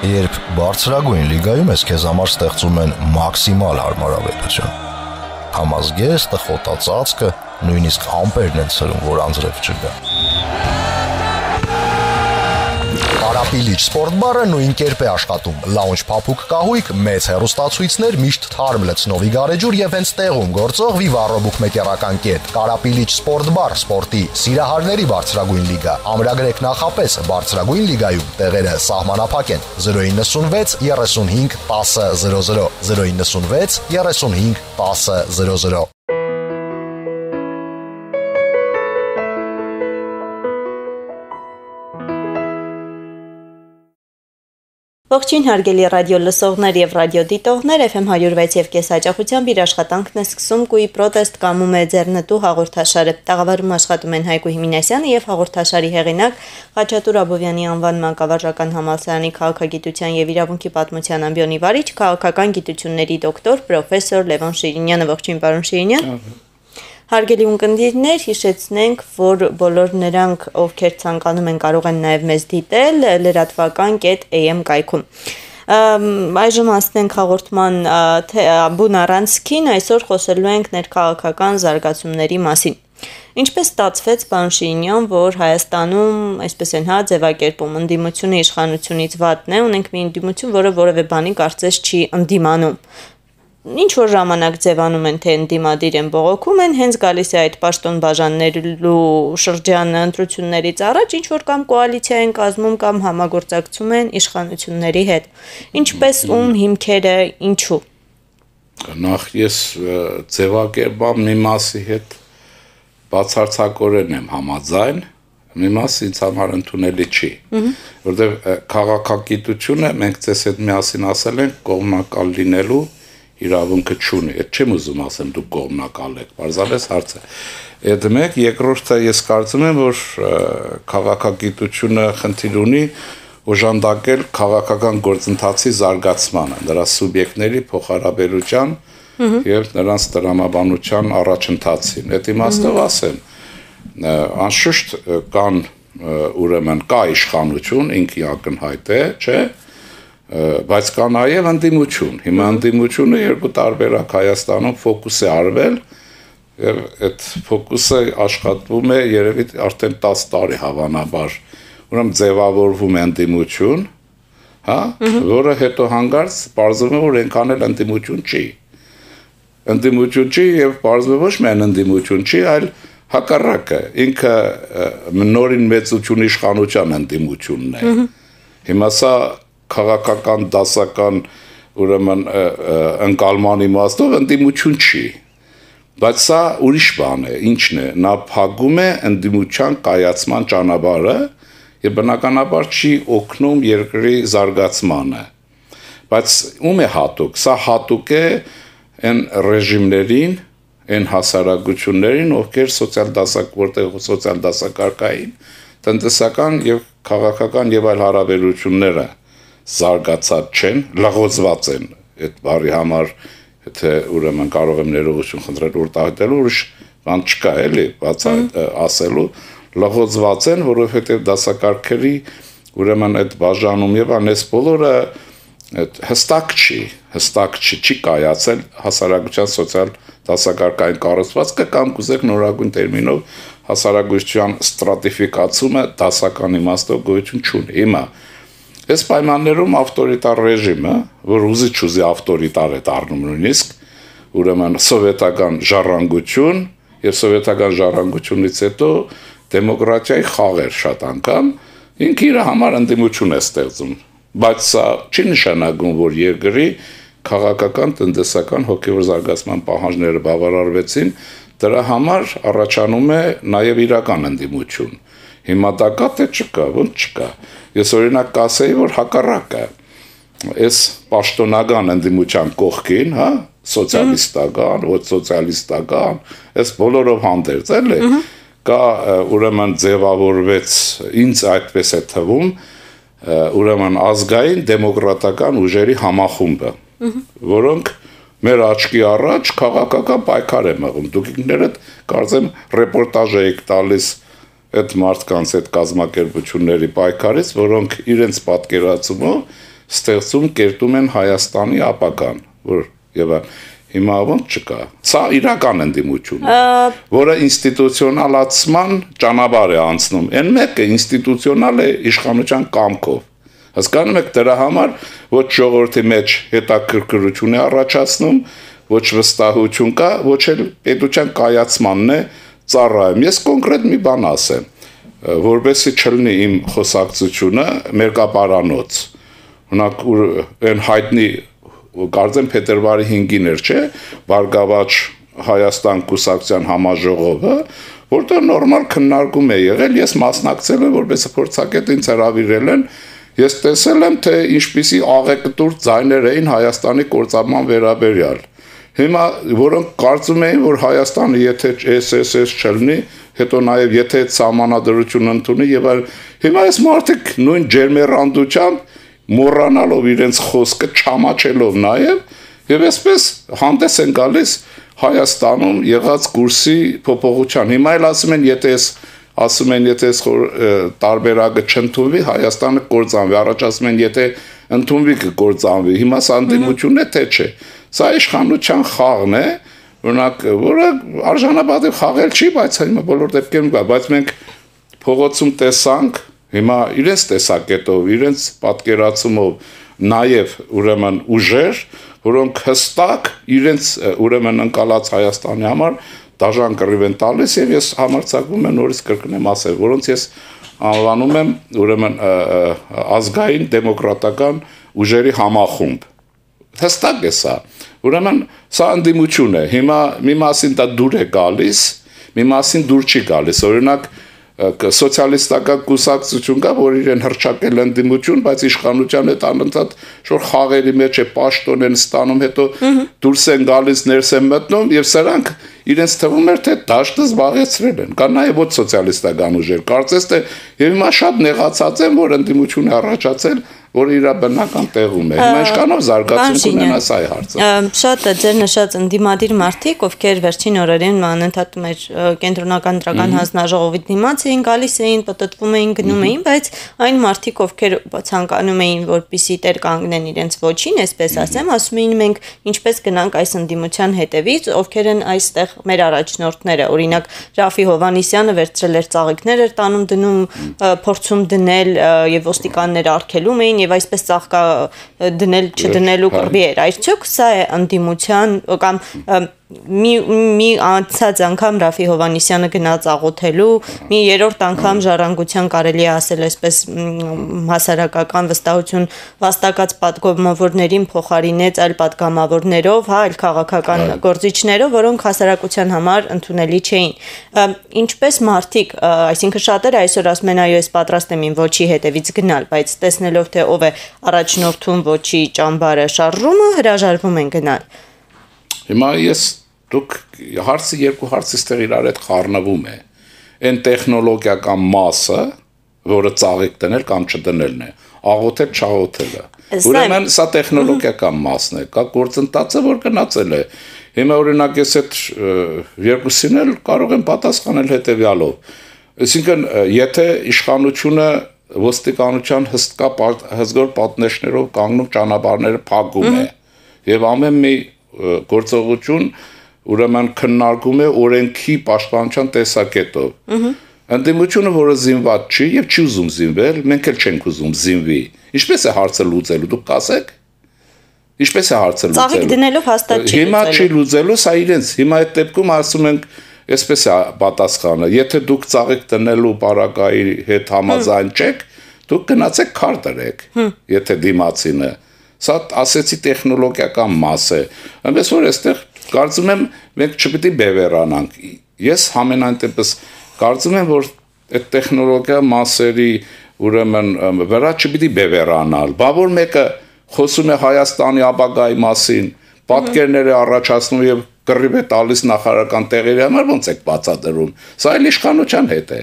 Երբ բարձրագույն լիգայում ես, քեզ համար ստեղծում են մաքսիմալ հարմարավետություն։ Համազգեստը, խոտածածկը, նույնիսկ ամպերն են ցրում, որ անձրև չգա։ Կարապիլիչ սպորտ բարը նույն կերպ է աշխատում։ Լաունջ փափուկ կահույք, մեծ հեռուստացույցներ, միշտ թարմ լցնովի գարեջուր եւ հենց տեղում գործող Viva-Robook մեկերական կետ։ Կարապիլիչ սպորտ բար, սպորտի սիրահարների բարձրագույն լիգա։ Ամրագրեք նախապես բարձրագույն լիգայում տեղերը սահմանափակ են։ 096 35 10 00 096 35 10 00 Ողջույն հարգելի ռադիո լսողներ եւ ռադիո դիտողներ, FM 106 եւ կես հաճախությամբ իր աշխատանքն է սկսում Կուի պրոտեստ կամում է ձեռնտու հաղորդաշարը։ Տաղավարում աշխատում են Հայկու Հիմինասյանը եւ հաղորդաշարի հեղինակ Խաչատուր Աբովյանի անվան մանկավարժական համալսարանի քաղաքագիտության եւ իրավունքի պատմության ամբիոնի վարիչ, քաղաքական գիտությունների դոկտոր, պրոֆեսոր Լևոն Շիրինյանը։ Ողջույն, պարոն Շիրինյան։ Հարգելի ունկնդիրներ, հիշեցնենք, որ բոլոր նրանք, ովքեր ցանկանում են, կարող են նաև մեզ դիտել լրատվական.am կայքում։ Այժմ անցնենք հաղորդման բուն առանցքին, այսօր խոսելու ենք ներքաղաքական զարգացումների մասին։ Ինչպես ստացվեց, պարոն Շիրինյան, որ Հայաստանում, այսպես են ձևակերպում, ընդդիմությունը իշխանությունից վատն է, ունենք մի ընդդիմություն, որը որևէ բանի կարծես չի ընդդիմանում։ Ինչ որ ժամանակ ձևանում են, թե ընդդիմադիր են, բողոքում են, հենց գալիս է այդ պաշտոն բաժանելու շրջանը ընտրություններից առաջ, ինչ որ կամ կոալիցիա են կազմում կամ համագործակցում են իշխանությունների հետ։ Ինչպես ում հիմքերը, ինչու։ Նախ ես ձևակերպամ մի մասի հետ բացարձակորեն եմ համաձայն, մի մասը ինձ համար ընդունելի չի, որովհետև քաղաքագիտությունը մենք ձեզ հետ միասին ասել ենք կողմնակալ լինելու իրավունքը չունի, այդ չեմ ուզում ասեմ դուք կողմնակալ եք, պարզապես հարց է։ Այդ մեկ, երկրորդը ես կարծում եմ, որ քաղաքագիտությունը խնդիր ունի օժանդակել քաղաքական գործընթացի զարգացմանը, նրա սուբյեկտների փոխհարաբերության եւ նրանց տրամաբանության առաջընթացին։ Այդ իմաստով ասեմ, անշուշտ կան ուրեմն կա իշխանություն, ինքը ակնհայտ է, չէ՞, բայց կա նաև ընդդիմություն։ Հիմա ընդդիմությունը երկու տարբերակ Հայաստանում ֆոկուս է արվել եւ այդ ֆոկուսը աշխատվում է երևի արդեն 10 տարի հավանաբար։ Ուրեմն ձևավորվում է ընդդիմություն, հա, որը հետո հանգարց պարզվում է, որ այնքան էլ ընդդիմություն չի։ Ընդդիմություն չի եւ պարզվում ոչ միայն ընդդիմություն չի, այլ հակառակը, ինքը նորին մեծություն իշխանության ընդդիմությունն է։ Հիմա սա քաղաքական դասական ուրեմն ընկալման իմաստով ընդդիմություն չի, բայց սա ուրիշ բան է, ինչն է, նա փակում է ընդդիմության կայացման ճանապարհը եւ բնականաբար չի օգնում երկրի զարգացմանը, բայց ում է հատուկ, սա հատուկ է այն ռեժիմներին, այն հասարակություններին, ովքեր սոցիալ դասակարգային, տնտեսական եւ քաղաքական եւ այլ հարաբերությունները զարգացած չեն, լղոզված են, այդ բառի համար, եթե ուրեմն կարող եմ ներողություն խնդրել ուրտահայտելու, ուրիշ բան չկա էլի, բաց ասելու, լղոզված են, որովհետև դասակարգերի ուրեմն այդ բաժանում եւ անես բոլորը հստակ չի կայացել հասարակության սոցիալ դասակարգային կառուցվածքը կամ կուզեք նորագույն տերմինով հասարակության ստրատիֆիկացումը դասական իմաստով գոյություն չունի։ Հիմա այս պայմաններում ավտորիտար ռեժիմը, որ ուզի ավտորիտար է դառնում նույնիսկ, ուրեմն սովետական ժառանգություն եւ սովետական ժառանգությունից հետո դեմոկրատիայի խաղեր շատ անգամ, ինքը իր համար ընդդիմություն է ստեղծում, բայց սա չի նշանակում, որ երկրի քաղաքական, տնտեսական, հոգեվոր զարգացման պահանջները բավարարվեցին, դրա համար առաջանում է նաեւ իրական ընդդիմություն։ Հիմա դա կա թե չկա, ոնց չկա։ Ես օրինակ կասեի, որ հակառակը, այս պաշտոնական ընդդիմության կողքին, հա, սոցիալիստական, ոչ սոցիալիստական, այս բոլորով հանդերձ էլի, կա ուրեմն ձևավորվեց, ինձ այդպես է թվում, ուրեմն ազգային դեմոկրատական ուժերի համախումբը, որոնք մեր աչքի առաջ քաղաքական պայքար է մղում։ Դուք ինքներդ կարծեմ ռեպորտաժ եք տալիս այդ մարդկանց այդ կազմակերպությունների պայքարից, որոնք իրենց պատկերացումով ստեղծում կերտում են Հայաստանի ապագան, որ եւ հիմա ոնց չկա։ Սա իրական ընդդիմություն է, որը ինստիտուցիոնալացման ճանապարհ է անցնում։ Այն մեկը ինստիտուցիոնալ է իշխանության կամքով։ Հասկանում եք, դրա համար ոչ ժողովրդի մեջ հետաքրքրություն է առաջացնում, ոչ վստահություն կա, ոչ էլ պետության կայացմանն է ծառայում։ Ես կոնկրետ մի բան ասեմ, որովհետեւ չլինի իմ խոսակցությունը մերկապարանոց։ Օրինակ այն հայտնի կարծեմ փետրվարի 5-ին էր, չէ, Բարգավաճ Հայաստան կուսակցության համաժողովը, որտեղ նորմալ քննարկում է եղել, ես մասնակցել եմ, որպես փորձագետ ինձ հրավիրել են, ես տեսել եմ, թե ինչպիսի աղեկտուր ձայներ էին Հայաստանի կործանման վերաբերյալ։ Հիմա որոնք կարծում էին, որ Հայաստանը եթե SSS չլինի, հետո նաև եթե սահմանադրություն ընդունի եւ այլ, հիմա այս մարդիկ նույն ջերմեռանդությամբ մոռանալով իրենց խոսքը, չամաչելով նաև եւ այսպես հանդես են գալիս Հայաստանում եղած կուրսի փոփոխության։ Հիմա էլ ասում են, եթե տարբերակը չընդունվի, Հայաստանը կործանվի, առաջ ասում են, եթե ընդունվի կկործանվի։ Հիմա սա ընդդիմություն է, թե չէ։ Սա իշխանության խաղն է, օրինակ, որը արժանապատիվ խաղել չի, բայց հիմա բոլոր դեպքերում կա, բայց մենք փողոցում տեսանք հիմա իրենց տեսակետով, իրենց պատկերացումով նաև ուրեմն ուժեր, որոնք հստակ իրենց ուրեմն ընկալած Հայաստանի համար դաժան կռիվ են տալիս եւ ես համարձակվում եմ նորից կրկնեմ ասել, որոնց ես անվանում եմ ուրեմն ազգային դեմոկրատական ուժերի համախումբ։ Հստակ է սա։ Ուրեմն սա ընդդիմություն է։ Հիմա մի մասին դա դուր է գալիս, մի մասին դուր չի գալիս։ Օրինակ սոցիալիստական կուսակցություն կա, որ իրեն հրճակել ընդդիմություն, բայց իշխանության հետ անընդհատ շոր խաղերի մեջ է պաշտոն են ստանում, հետո դուրս են գալիս, ներս են մտնում եւ սրանք իրենց թվում էր թե դաշտը զբաղեցրել են։ Կա նաեւ ոչ սոցիալիստական ուժեր։ Կարծես թե եւ հիմա շատ նեղացած են, որ ընդդիմություն է առաջացել, որ իր բնական տեղում է։ Հիմա ինչքանով զարգացում կունենա սա է հարցը։ Շատ է ձեր նշած ընդդիմադիր մարդիկ, ովքեր վերջին օրերին անընդհատ մեր կենտրոնական դրական հանձնաժողովի դիմաց էին գալիս էին, պտտվում էին, գնում էին, բայց այն մարդիկ, ովքեր ցանկանում էին, որպիսի տեր կանգնեն իրենց ոչին, այսպես ասում էին մենք ինչպես գնանք այս ընդդիմության հետևից, ովքեր են այստեղ մեր առաջնորդները, օրինակ Ռաֆի Հովհաննիսյանը վերցրել էր ծաղիկներ էր տանում դնում, փորձում դնել եւ ոստիկանները արգելում էին եւ այսպես ծաղկա դնել չդնելու կռվի էր։ Այսօք սա է ընդդիմության կամ մի անցած անգամ Ռաֆի Հովհաննիսյանը գնաց աղոթելու, մի երրորդ անգամ ժառանգության կարելի է ասել այսպես հասարակական վստահություն վաստակած պատգամավորներին փոխարինեց այլ պատգամավորներով, այլ քաղաքական գործիչներով, որոնք հասարակության համար ընդունելի չէին։ Ինչպես մարդիկ, այսինքն շատերը այսօր ասում են այո, ես պատրաստ եմ իմ ոչի հետևից գնալ, բայց տեսնելով թե ով է առաջնորդում ոչի ճամբարը շարժումը, հրաժարվում են գնալ։ Հիմա դուք հարցը երկու հարցից տեղ իրար հետ խառնվում է։ Այն տեխնոլոգիական մասը, որը ծաղիկ դնել կամ չդնելն է, աղոթել, չաղոթելը։ Ուրեմն սա տեխնոլոգիական մասն է, կա գործընթացը, որ գնացել է։ Հիմա օրինակ ես այդ երկուսին էլ կարող եմ պատասխանել հետևյալով։ Այսինքն, եթե իշխանությունը ոստիկանության հզոր պատնեշներով կանգնում ճանապարհները փակում է եւ ամեն մի գործողություն ուրեմն քննարկում է օրենքի պաշտպանության տեսակետով։ Ընդդիմությունը, որը զինված չի եւ չի ուզում զինվել, մենք էլ չենք ուզում զինվի։ Ինչպես է հարցը լուծելու, դուք կասեք։ Ինչպես է հարցը լուծելու։ Ծաղիկ դնելով հաստատ չի լուծելու։ Հիմա չի լուծելու, սա իրենց։ Հիմա այդ դեպքում ասում ենք, այսպես է պատասխանը, եթե դուք ծաղիկ դնելու պարագայի հետ համաձայն չեք, դուք գնացեք քար դրեք, եթե դիմացինը։ Սա ասեցի տեխնոլոգիական մաս է։ Այնպես որ այստեղ կարծում եմ մենք չպիտի բևեռանանք։ Ես համենայն դեպս կարծում եմ որ այդ տեխնոլոգիա մասերի ուրեմն վրա չպիտի բևեռանալ։ Բա որ մեկը խոսում է Հայաստանի ապագայի մասին, պատկերներ է առաջացնում եւ կռիվ է տալիս նախարարական տեղերի համար, ոնց եք բացատրում։ Սա էլ իշխանության հետ է։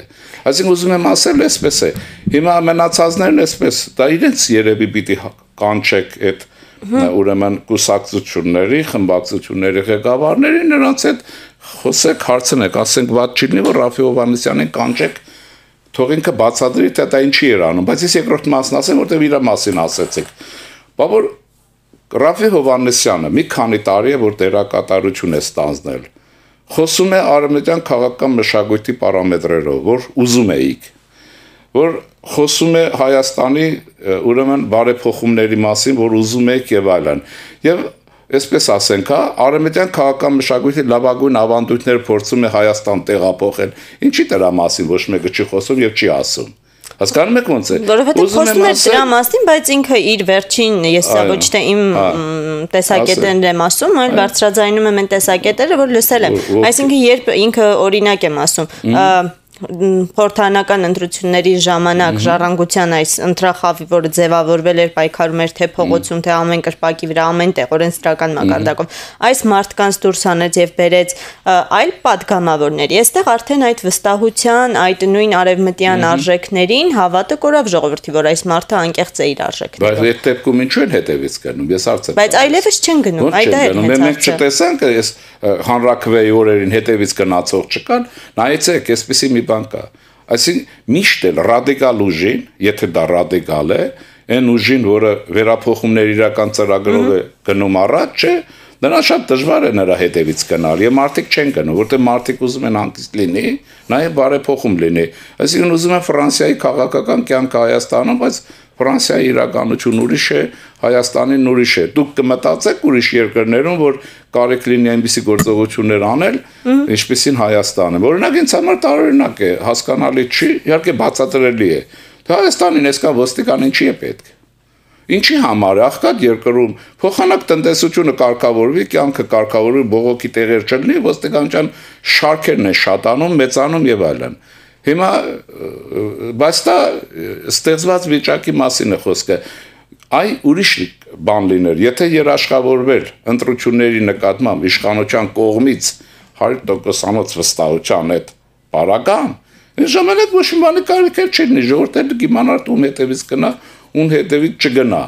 Այսինքն ուզում եմ ասել այսպես է։ Հիմա մնացածներն այսպես, դա իրենց երևի պիտի կանչեք այդ ուրեմն կուսակցությունների, խմբակցությունների ղեկավարների նրանց հետ խոսեք, հարցնեք, ասենք ված չի լինի, որ Ռաֆի Հովհաննիսյանին կանչեք, թող ինքը բացատրի, թե դա ինչի էր անում, բայց ես երկրորդ մասն ասեմ, որտեղ իր մասին ասեցիք։ Բա որ Ռաֆի Հովհաննիսյանը մի քանի տարի է որ դերակատարություն է ստանձնել։ Խոսում է արևմտյան քաղաքական մշակույթի պարամետրերով, որ ուզում էիք, որ խոսում է Հայաստանի ուրեմն բարեփոխումների մասին, որ ուզում եք եւ այլն։ Եվ այսպես ասենք, արևմտյան քաղաքական մշակույթի լավագույն ավանդույթները փորձում է Հայաստան տեղափոխել։ Ինչի դրա մասին ոչ մեկը չի խոսում եւ չի ասում։ Հասկանում եք ոնց է։ Որովհետեւ խոսում է դրա մասին, բայց ինքը իր վերջին, ես ոչ թե իմ տեսակետներն եմ ասում, այլ բարձրաձայնում եմ այն տեսակետերը, որ լսել եմ։ Այսինքն երբ ինքը օրինակ եմ ասում, խորհրդարանական ընտրությունների ժամանակ ժառանգության այս ընտրախավի, որը ձևավորվել էր, պայքարում էր թե փողոցում, թե ամեն կրպակի վրա, ամեն տեղ օրենսդրական մակարդակով, այս մարդկանց դուրս հանեց եւ բերեց այլ падգամավորների։ Այստեղ արդեն այդ վստահության, այդ նույն արևմտյան արժեքներին հավատը կորավ ժողովրդի, որ այս մարդը անկեղծ է իր արժեքներով։ Բայց այդ դեպքում ինչու են հետևից գնում, ես հարց եմ։ Բայց այլևս չեն գնում, այդ է հենց հարցը։ Մենք չտեսանք, այս հանրաքվեի օրերին հետևից գնացող չկան, նայեցեք, այսպեսի մի բան կա։ Այսինքն միշտ էլ ռադիկալ ուժին, եթե դա ռադիկալ է, այն ուժին, որը վերափոխումներ իրական ծրագրով է գնում առաջ, չէ, նրան շատ դժվար է նրա հետևից գնալ, եւ մարդիկ չեն գնում, որտեղ մարդիկ ուզում են հանգիստ լինի, նաեւ բարեփոխում լինի։ Այսինքն ուզում են Ֆրանսիայի քաղաքական կյանքը Հայաստանում, բայց Ֆրանսիայի իրականություն ուրիշ է, Հայաստանին ուրիշ է։ Դուք կմտածեք ուրիշ երկրներում, որ կարիք լինի այնպիսի գործողություններ անել, ինչպիսին Հայաստանը։ Օրինակ ինձ համար տարօրինակ է, հասկանալի չի, իհարկե բացատրելի է։ Թե Հայաստանին այսքան ոստիկան ինչի է պետք։ Ինչի համար է աղքատ երկրում փոխանակ տնտեսությունը կարգավորվի, կյանքը կարգավորվի, բողոքի տեղեր չլինի, ոստիկանության շարքերն են շատանում, մեծանում եւ այլն։ Հիմա բայց դա ստեղծված վիճակի մասին է խոսքը։ Այ ուրիշ բան լիներ, եթե երաշխավորվել ընտրությունների նկատմամբ իշխանության կողմից 100%-անոց վստահության այդ բարական, այն ժամանակ ոչ մի բանի կարիք չէր լինի, ժողովուրդը կիմանար ում հետևից գնա, ում հետևից չգնա։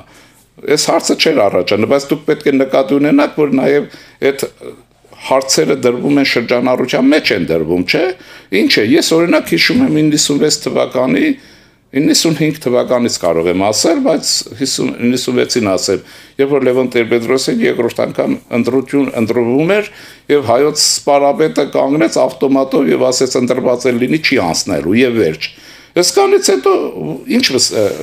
Այս հարցը չէր առաջանում, բայց դուք պետք է նկատի ունենաք, որ նաև այդ հարցերը դրվում են շրջանառության մեջ են դրվում, չէ՞։ Ինչ է, ես օրինակ հիշում եմ 96 թվականի 95 թվականից կարող եմ ասել, բայց 96-ին ասեմ, երբ որ Լևոն Տեր-Պետրոսյանը երկրորդ անգամ ընտրվում էր եւ հայոց սպարապետը կանգնեց ավտոմատով եւ ասեց ընտրված է լինի չի անցնելու եւ վերջ։ Այսքանից հետո ինչ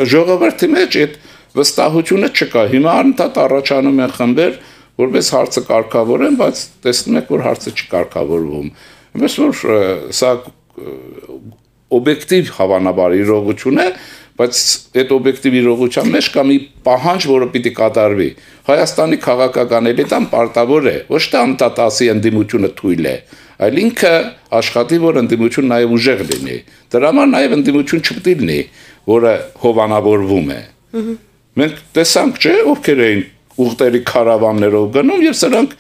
ժողովրդի մեջ այդ վստահությունը չկա։ Հիմա անընդհատ առաջանում են խմբեր, որպես հարցը կարգավորեն, բայց տեսնում եք, որ հարցը չի կարգավորվում։ Իմպես որ սա օբյեկտիվ հավանաբար իրողություն է, բայց այդ օբյեկտիվ իրողության մեջ կա մի պահանջ, որը պիտի կատարվի։ Հայաստանի քաղաքական էլիտան պարտավոր է, ոչ թե անընդհատ ասի ընդդիմությունը թույլ է, այլ ինքը աշխատի, որ ընդդիմություն նաև ուժեղ լինի։ Դրա համար նաև ընդդիմություն չպետք լինի, որը հովանավորվում է։ Մենք տեսանք, չէ, ովքեր էին ուղտերի քարավաններով գնում եւ սրանք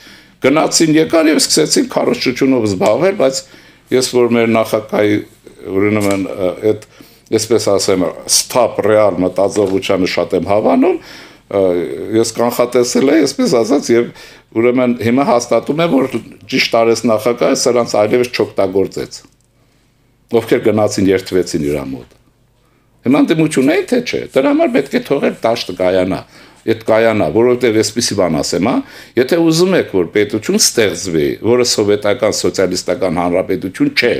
գնացին եկան եւ սկսեցին քարոզչությունով զբաղվել, բայց ես որ մեր նախագահի ուրեմն այդ այսպես ասեմ ստապ ռեալ մտածողությանը շատ եմ հավանում, ես կանխատեսել եմ, այսպես ասած եւ ուրեմն հիմա հաստատում եմ, որ ճիշտ արես նախագահը սրանց այլևս չօգտագործեց։ Ովքեր գնացին երթվեցին իր մոտ։ Հիմա դեմությունը թե չէ, դրա համար պետք է թողել դաշտը կայանա։ Այդ կայանա, որովհետև այսպիսի բան ասեմ, եթե ուզում եք, որ պետություն ստեղծվի, որը սովետական սոցիալիստական հանրապետություն չէ,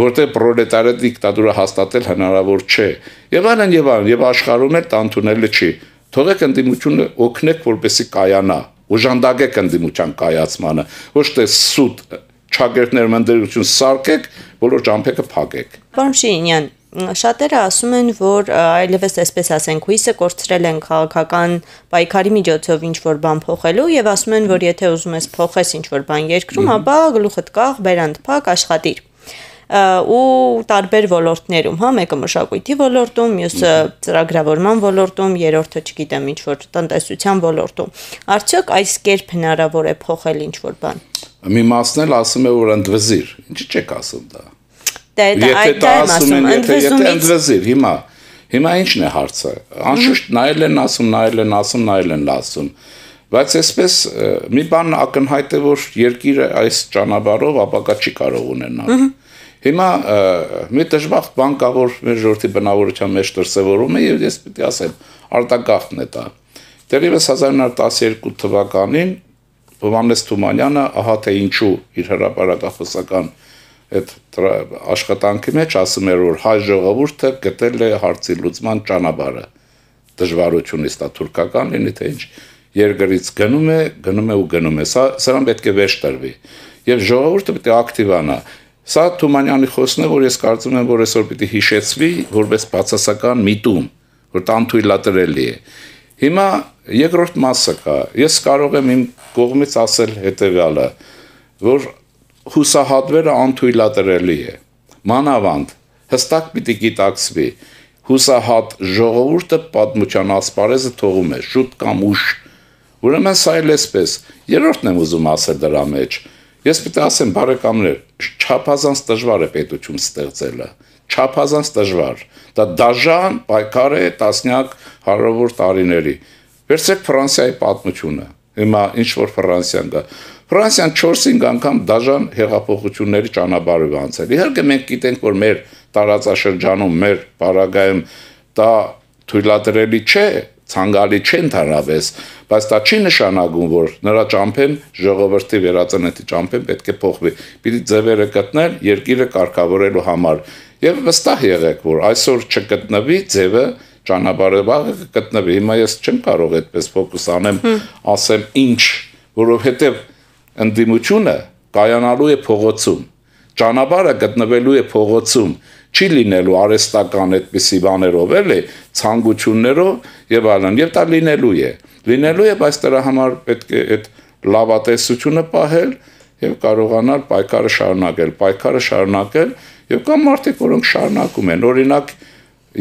որտեղ պրոլետարիատ դիկտատուրա հաստատել հնարավոր չէ, եւ այլն եւ աշխարհում էլ տանտունելը չի։ Թողեք ընդդիմությունը օգնեք, որպեսզի կայանա, օժանդակեք ընդդիմության կայացմանը, ոչ թե սուտ չագերտներ մնդերություն սարքեք, բոլոր ջամփեկը փակեք։ Պարոն Շիրինյան, շատերը ասում են, որ այլևս այսպես ասենք հույսը կորցրել են քաղաքական պայքարի միջոցով ինչ-որ բան փոխելու եւ ասում են, որ եթե ուզում ես փոխես ինչ-որ բան երկրում, ապա գլուխդ կախ, բերանդ փակ, աշխատիր։ Ու տարբեր ոլորտներում, մեկը մշակույթի ոլորտում, մյուսը ծրագրավորման ոլորտում, երրորդը չգիտեմ ինչ-որ տնտեսության ոլորտում։ Արդյոք այս կերպ հնարավոր է փոխել ինչ-որ բան։ Մի մասն էլ ասում է, որ ընդվզիր։ Ինչի՞ չեք ասում դա։ Եթե ընդվզիր, հիմա ինչն է հարցը։ Անշուշտ նայել են ասում, բայց այսպես մի բան ակնհայտ է, որ երկիրը այս ճանապարհով ապակա չի կարող ունենալ։ Հիմա մի դժբախտ բան կա, որ մեր ժողովրդի բնավորության մեջ դրսևորում է եւ ես պիտի ասեմ, արտագաղթն է դա։ Դերևս 1912 թվականին Հովհաննես Թումանյանը ահա թե ինչու իր հրապարակախոսական այդ աշխատանքի մեջ ասում էր, որ հայ ժողովուրդը գտել է հարցի լուծման ճանապարհը, դժվարությունից դա թուրքական լինի թե ինչ, երկրից գնում է, սրան պետք է վերջ տրվի, եւ ժողովուրդը պետք է ակտիվանա, սա Թումանյանի խոսքն է, որ ես կարծում եմ, որ այսօր պետք է հիշեցվի, որպես բացասական միտում, որ դա անթույլատրելի է, հիմա երկրորդ մասը կա, ես կարող եմ իմ կողմից ասել հետեւյալը, որ հուսահատվելը անթույլատրելի է, մանավանդ հստակ պիտի գիտակցվի, հուսահատ ժողովուրդը պատմության ասպարեզը թողում է, շուտ կամ ուշ, ուրեմն սա էլ էսպես, երրորդն եմ ուզում ասել դրա մեջ, ես պիտի ասեմ բարեկամներ, չափազանց դժվար է պետություն ստեղծելը, չափազանց դժվար, դա դաժան պայքար է տասնյակ հարյուր տարիների, վերցրեք Ֆրանսիայի պատմությունը, հիմա ինչ որ Ֆրանսիան կա, Ֆրանսիան 4-5 անգամ դաժան հեղափոխությունների ճանապարհով անցել։ Իհարկե մենք գիտենք, որ մեր տարածաշրջանում, մեր պարագայում դա թույլատրելի չէ, ցանկալի չէ ընդհանրապես, բայց դա չի նշանակում, որ նրա ճամփեն ժողովրդի վերածննդի ճամփեն պետք է փոխվի։ Պիտի ձևերը գտնել երկիրը կարգավորելու համար։ Եվ վստահ եղեք, որ այսօր չգտնվի ձևը ճանապարհը կգտնվի։ Հիմա ես չեմ կարող այդպես ֆոկուս անեմ, ասեմ ինչ, որովհետև ընդդիմությունը կայանալու է փողոցում, ճանապարհը գտնվելու է փողոցում, չի լինելու արհեստական այդպիսի բաներով, էլի, ցանկություններով եւ այլն, եւ դա լինելու է, բայց դրա համար պետք է այդ լավատեսությունը պահել եւ կարողանալ պայքարը շարունակել եւ կան մարդիկ, որոնք շարունակում են, օրինակ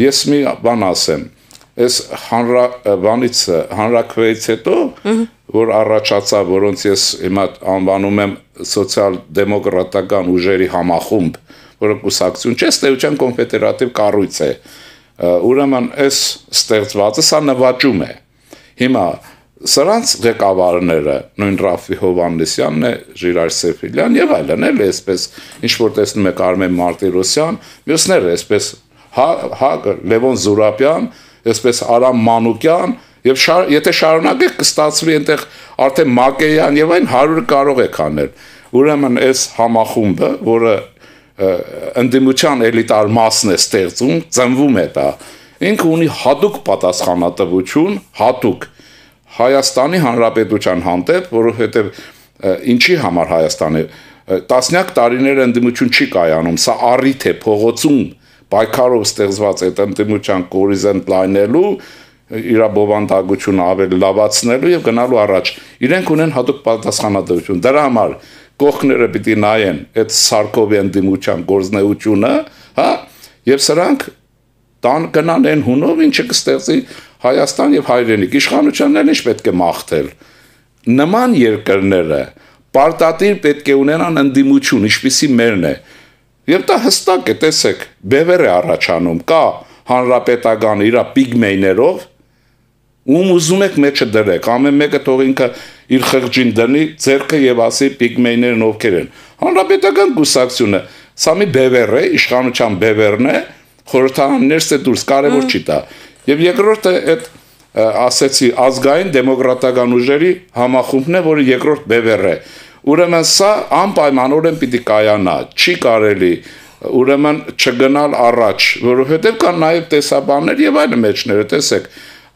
ես մի բան ասեմ, այս հանրաքվեից հետո, որ առաջացավ, որոնց ես հիմա անվանում եմ սոցիալ-դեմոկրատական ուժերի համախումբ, որը կուսակցություն չէ, ստեյության կոնֆեդերատիվ կառույց է, ուրեմն այս ստեղծվածը սա նվաճում է, հիմա սրանց ղեկավարները, նույն Ռաֆի Հովհաննեսյանն է, Ժիրայր Սեֆիլյան եւ այլն, էլ այսպես, ինչ որ տեսնում եք Արմեն Մարտիրոսյան, մյուսները այսպես Լևոն Զուրաբյան, այսպես Արամ Մանուկյան, եւ եթե շարունակեք կստացվի այնտեղ արդեն Մակեյան եւ այն 100 կարող եք անել։ Ուրեմն այս համախումբը, որը ընդդիմության էլիտար մասն է ստեղծում, ծնվում է դա։ Ինքը ունի հատուկ պատասխանատվություն, հատուկ Հայաստանի Հանրապետության հանդեպ, որովհետեւ ինչի համար Հայաստանի տասնյակ տարիներ ընդդիմություն չի կայանում, սա առիթ է փողոցում պայքարով ստեղծված այդ ընդդիմության կորիզեն լայնելու, իր բովանդակությունը ավելի լավացնելու եւ գնալու առաջ։ Իրենք ունեն հատուկ պատասխանատվություն։ Դրա համար կողքները պիտի նայեն այդ Սարկովի ընդդիմության գործնեությունը, հա, եւ սրանք տան գնան այն հունով, ինչը կստեղծի Հայաստան եւ հայրենիք։ Իշխանությանն էլ ինչ պետք է մաղթել։ Նման երկրները պարտադիր պետք է ունենան ընդդիմություն, ինչպիսի մերն է։ Եվ դա հստակ է, տեսեք, բևեր է առաջանում, կա հանրապետական իր պիգմեյներով, ում ուզում եք մեջը դրեք, ամեն մեկը թող ինքը իր խղճին դնի ձեռքը եւ ասի պիգմեյներն ովքեր են։ Հանրապետական կուսակցությունը, սա մի բևեր է, իշխանության բևերն է, խորհրդարաններս է դուրս, կարևոր չի դա։ Եվ երկրորդը այդ ասեցի ազգային դեմոկրատական ուժերի համախումբն է, որը երկրորդ բևեր է։ Ուրեմն սա անպայմանորեն պիտի կայանա, չի կարելի ուրեմն չգնալ առաջ, որովհետև կան նաև տեսաբաններ եւ այլ մեջները, տեսեք,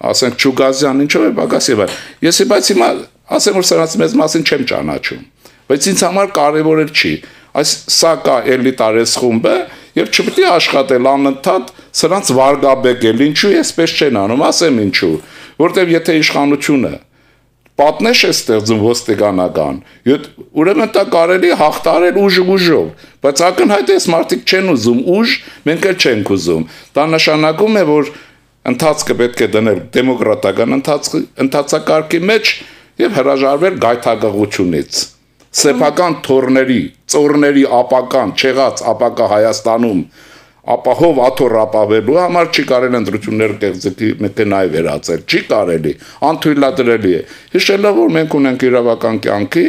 ասենք Չուգազյան ինչով է պակաս եւ այլ։ Ես բայց հիմա ասեմ, որ սրանց մեծ մասին չեմ ճանաչում, բայց ինձ համար կարևոր չի։ Այս սա կա էլիտար խումբը եւ չպետք է աշխատել անընդհատ սրանց վարգաբեկել, ինչու էսպես չեն անում, ասեմ ինչու, որտեւ եթե իշխանությունը պատնեշ է ստեղծում ոստիկանական, ուրեմն դա կարելի է հաղթարել ուժով, բայց ակնհայտ է մարդիկ չեն ուզում ուժ, մենք էլ չենք ուզում։ Դա նշանակում է, որ ընթացքը պետք է դնել դեմոկրատական ընթացակարգի մեջ եւ հրաժարվել գայթակղությունից։ Սեփական թորների, ծորների ապական, չեղած ապակա Հայաստանում ապահով աթոռ ապավելու համար չի կարելի ընտրություններ կեղծի մեքենայի վերածել, չի կարելի, անթույլատրելի է։ Հիշելով, որ մենք ունենք իրավական կյանքի,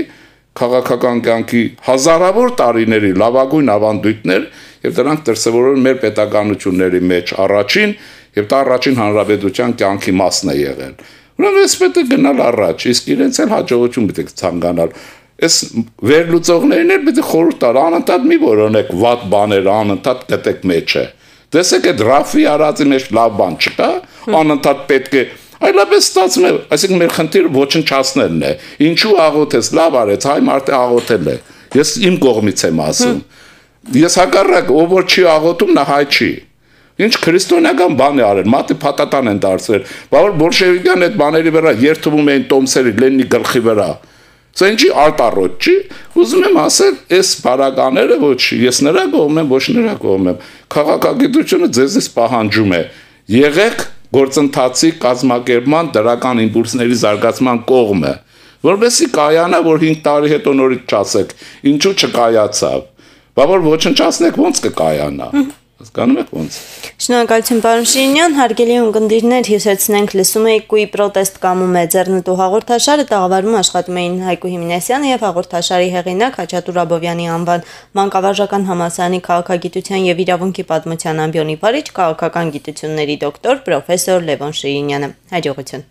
քաղաքական կյանքի հազարավոր տարիների լավագույն ավանդույթներ եւ դրանք դրսեւորել մեր պետականությունների մեջ առաջին եւ դա առաջին հանրապետության կյանքի մասն է եղել։ Ուրեմն ես պետք է գնալ առաջ, իսկ իրենց էլ հաջողություն պետք է ցանկանալ։ Այս վերլուծողներին էլ պետք է խորհուրդ տալ, անընդհատ մի որոնեք վատ բաներ, անընդհատ գտեք մեջը։ Տեսեք այդ Ռաֆի արածի մեջ լավ բան չկա, անընդհատ պետք է այլապես ստացվում է, այսինքն մեր խնդիրը ոչնչացնելն է։ Ինչու աղոթես, լավ արեց, հայ մարդը աղոթել է։ Ես իմ կողմից եմ ասում։ Ես հակառակ, ով որ չի աղոթում, նա հայ չի։ Ինչ քրիստոնեական բան է արել, մատի փաթաթան են դարձրել, բավար բոլշևիկյան այդ բաների վրա երթվում էին տոմսերի Լենինի գլխի վրա։ Սա ինչի արտառոտ չի, ուզում եմ ասել, այս բարակաները ոչ, ես նրա կողմ եմ, ոչ նրա կողմ եմ։ Քաղաքագիտությունը ձեզնից պահանջում է, եղեք գործընթացի կազմակերպման դրական իմպուլսների զարգացման կողմը, որովհետեւ կայանա, որ 5 տարի հետո նորից չասեք, ինչու չկայացավ։ Բա որ ոչնչացնեք ոնց կկայանա։ Հասկանում եք ոնց։ Շնորհակալություն պարոն Շիրինյան, հարգելի ունկնդիրներ, հյուսեցնենք լսում եք կույ պրոտեստ կամում է ձեռնտու հաղորդաշարը, տաղավարում աշխատում էին Հայկու Հիմնեսյանը եւ հաղորդաշարի հեղինակ Հաչատուր Աբովյանի անվան Մանկավարժական համալսարանի քաղաքագիտության եւ իրավունքի պատմության ամբիոնի վարիչ, քաղաքական գիտությունների դոկտոր պրոֆեսոր Լևոն Շիրինյանը։ Հաջողություն։